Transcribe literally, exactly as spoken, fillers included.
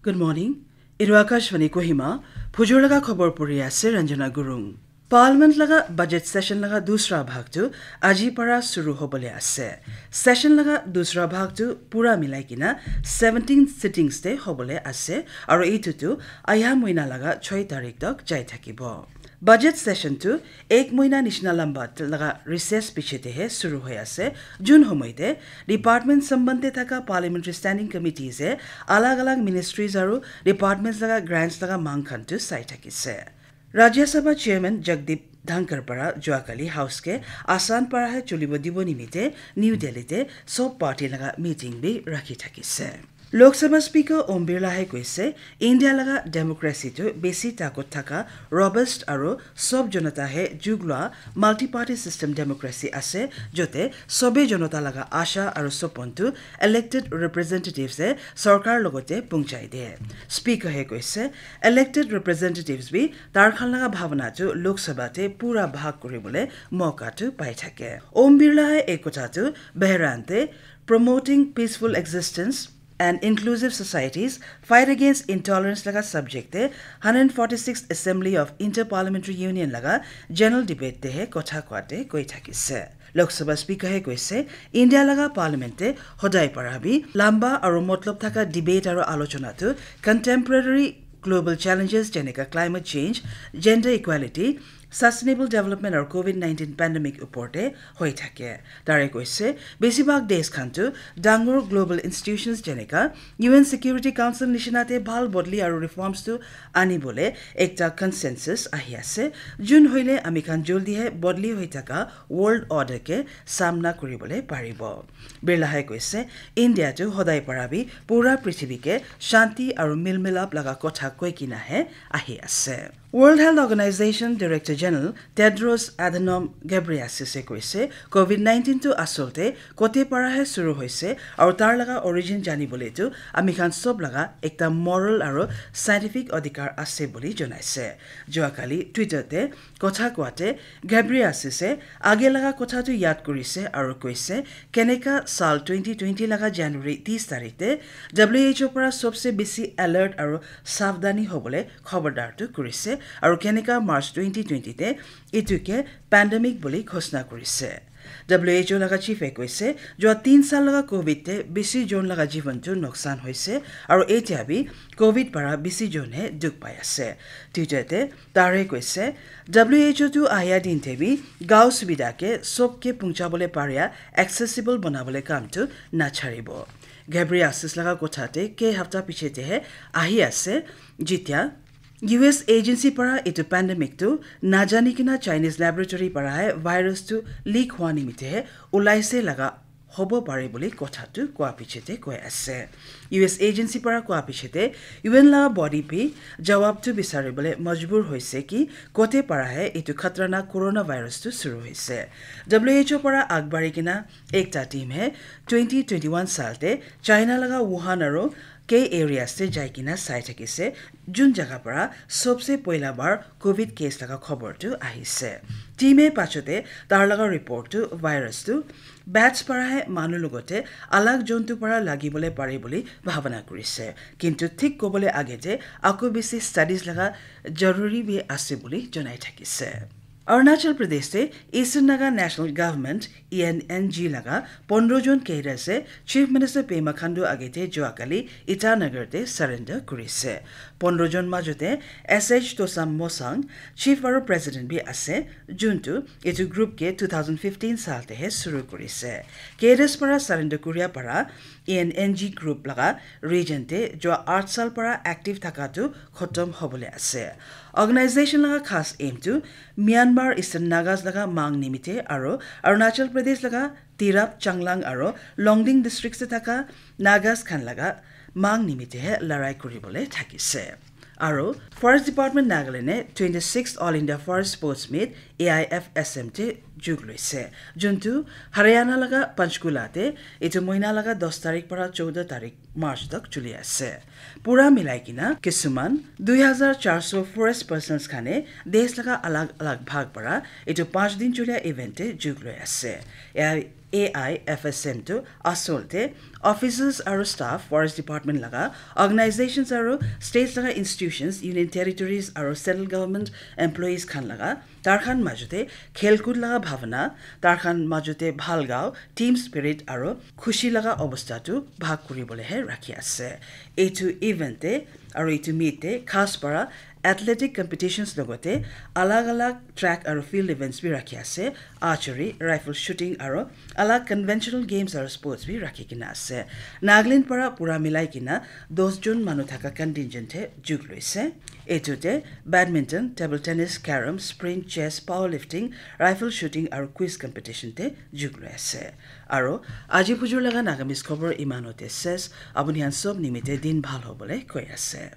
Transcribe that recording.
Good morning. Etu Akashvani Kohima, phujur laga khobor puri ase Ranjana Gurung. Parliament laga budget session laga dusra bhag tu aji para shuru hobole ase. Session laga dusra bhag tu pura milai kina seventeen sittings te hobole ase, aru etu tu aya moina laga choi tarik tak jai thakibo. Budget session tu ek moina nishina lamba laga recess piche te he shuru hoi ase. Jun homoi te department samband te thaka parliamentary standing committees e alag alag ministries aru departments laga grants laga mang khan tu sai thakise. Rajya Sabha Chairman Jagdeep Dhankhar para juakali House ke Assam para he chulibo dibo nimite New Delhi te sob party laga meeting bi rakhi thakise. Lok Sabha Speaker Om Birla he koise, India laga democracy tu besi takot thaka, robust aru sob jonata he jug lua multi-party system democracy ase, jote sobe jonata laga asha aru sopon tu elected representatives e sorkar logote pungchai de. Speaker he koise, elected representatives bi tar khan laga bhavana tu Lok Sabha te pura bhag kuribole moka tu pai thake. Om Birla he ek kotha tu Behran te promoting peaceful existence and inclusive societies, fight against intolerance laga subject te hundred forty-sixth Assembly of Inter-Parliamentary Union laga general debate te he kotha koate koi thakise. Lok Sabha Speaker he koise, India laga Parliament te hodai para bi lamba aru motlob thaka debate aru alochona tu contemporary global challenges jeneka climate change, gender equality, sustainable development aru covid nineteen pandemic upor te hoi thake. Tare koise, besibhag desh khan tu dangor global institutions jeneka U N Security Council nishina te bhal bodli aru reforms tu ani bole ekta consensus ahi ase. Jun hoile ami khan joldi he bodli hoi thaka world order ke samna kuri bole paribo. Birla he koise, India tu hodai para bi pura prithibi ke shanti aru milmilap laga kotha koi kina he ahi ase. World Health Organization Director General Tedros Adhanom Ghebreyesus e koise, covid nineteen tu asol te kote para he shuru hoise, aru tar laga origin jani bole tu ami khan sob laga ekta moral aru scientific adhikar ase bole jonaise. Juakali Twitter te kotha koate Ghebreyesus e age laga kotha tu yad kurise aru koise, keneka sal twenty twenty laga January tis tarik te W H O para sobse besi alert aru savdhani hobole khobordar tu kurise, aru keneka March twenty twenty te itu ke pandemic bole ghosna kurise. W H O laga chief e koise, jua tin sal laga covid te besi jon laga jivan tu noksan hoise, aru etia bi covid para besi jon he dukh pai ase. Twitter te tare koise, W H O tu ahia din te bi gao subidha ke sob ke pungcha bole paria accessible bana bole kam tu nacharibo. Ghebreyesus laga kotha te ke hafta piche te he ahi ase, jitia U S agency para itu pandemic tu najani kina Chinese laboratory para he virus tu leak hua nimite he ulaise laga hobo pare bole kotha tu koa piche te koi ase. U S agency para koa piche te U N laga body bi jawab tu bisari bole majbur hoise ki kote para he itu khatarnak coronavirus tu shuru hoise. W H O para agbari kina ekta team he twenty twenty-one sal te China laga Wuhan aru kei areas te jai kina sai thakise, jun jaga para sobse poila bar covid case laga khobor tu ahise. Team e pachote tar laga report tu virus tu bats para he manu logote alag jontu para lagi bole pare bole bhavana kurise. Kintu thik kobole age te ako besi studies laga jaruri bi ase bole jonai thakise. Arunachal Pradesh te Eastern Naga National Government, E N N G laga pondro jon cadres e Chief Minister Pema Khandu age te juakali Itanagar te surrender kurise. Pondro jon majote S H Tosam Mosang, Chief aru President bi ase, juntu itu group ke two thousand fifteen sal te he shuru kurise. Cadres para surrender kuria para E N N G group laga region te jua aat sal para active thaka tu khotom hobole ase. Organization laga khas aim tu Myanmar Eastern Nagas laga mang nimite aru Arunachal Pradesh laga Tirap, Changlang aru Longding districts te thaka Nagas khan laga mang nimite he larai kuribole thakise. Aru Forest Department Nagaland e twenty-sixth All India Forest Sports Meet A I F S M te jug loise. Juntu Haryana laga Panchkula te itu moina laga dos tarik para chowda tarik March tak chuli ase. Pura milai kina kisuman dui hajar char so forest persons khane desh laga alag alag bhag para itu panch din chulia event te jug loi ase. A I A I F S M tu asol te officers aru staff, forest department laga, organizations aru states laga institutions, union territories aru central government employees khan laga, tar khan majute khelkud laga bhavana, tar khan majute bhal gao, team spirit aru khushi laga obostha tu bhag kuribole he rakhi ase. Etu event te aru etu meet te khas para athletic competitions logote alag alag track aru field events bi rakhi ase, archery, rifle shooting aru alag conventional games aru sports bi rakhi kena ase. Nagaland para pura milai kena dos jon manu thaka contingent he jug loise. Etu te badminton, table tennis, carom, sprint, chess, powerlifting, rifle shooting aru quiz competition te jug loi ase. Aru aji pujur laga Nagamese khobor imanote ses, apuni khan sob nimite din bhal hobole koi ase.